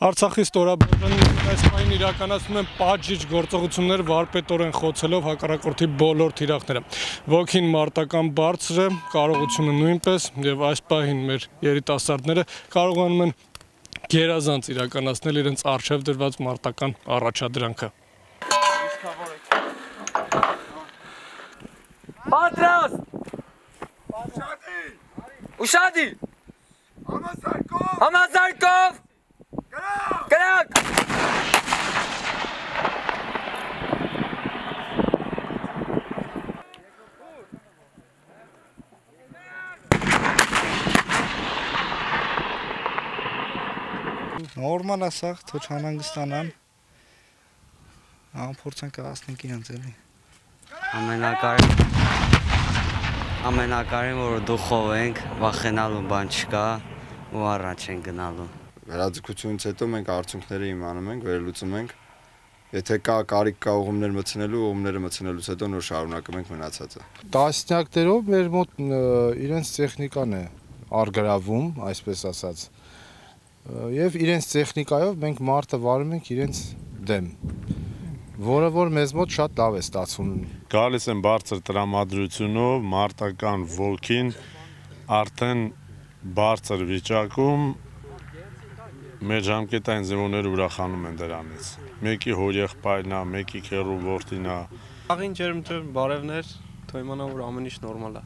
Արցախի ստորաբաժանի այս պահին իրականացնում են պատժիչ գործողություններ վարպետորեն խոցելով հակառակորդի բոլոր թիրախները։ Ոգին մարտական բարձր է, կարողությունը նույնպես, եւ այս պահին մեր երիտասարդները կարողանում են գերազանց իրականացնել իրենց առջև դրված մարտական առաջադրանքը։ Պատրաստ! Ուշադի! Համազարկով! Կրակ! Նորմալ ասաղ, թող չանհանգստանան, փորձենք հասնենք իրենց էլի։ Ամենակարևորը որ դուխով ենք, վախենալու բան չկա ու առաջ ենք գնալու։ Վերաձգությունից հետո մենք արդյունքները իմանում ենք, վերլուծում ենք։ Եթե կա կարիք կա ուղումներ մտցնելու, ուղումները մտցնելուց հետո նոր շարունակում ենք մնացածը։ Տասնյակներով մեր մոտ իրենց տեխնիկան է արգրավում, այսպես ասած։ Եվ իրենց տեխնիկայով մենք մարտը վարում ենք իրենց դեմ, որը որ մեզ մոտ շատ լավ է ստացվում։ Գալիս են բարձր տրամադրությունով, մարտական ոգին արդեն բարձր վիճակում, մեր ժամկետային զինվորները ուրախանում են դրանից։ Մեկի հորեղբայրն է, մեկի քեռու որդին է։ Աղին ջերմ բարևներ, թող իմանա որ ամեն ինչ նորմալ է։